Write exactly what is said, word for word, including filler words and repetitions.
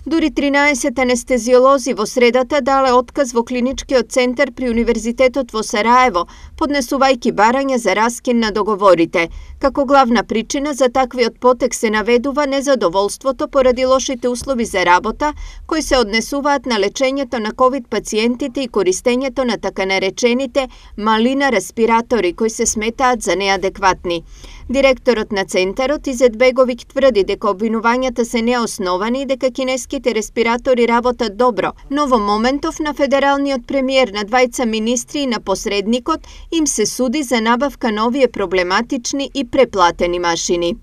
Дури тринаесет анестезиолози во средата дале отказ во клиничкиот центар при Универзитетот во Сараево, поднесувајќи барање за раскин на договорите. Како главна причина за таквиот потек се наведува незадоволството поради лошите услови за работа, кои се однесуваат на лечењето на ковид пациентите и користењето на така наречените малина респиратори, кои се сметаат за неадекватни. Директорот на центарот Изет Беговиќ тврди дека обвинувањата се неосновани и дека кинеските респиратори работат добро, но во моментов на федералниот премиер, на двајца министри и на посредникот им се суди за набавка на овие проблематични и преплатени машини.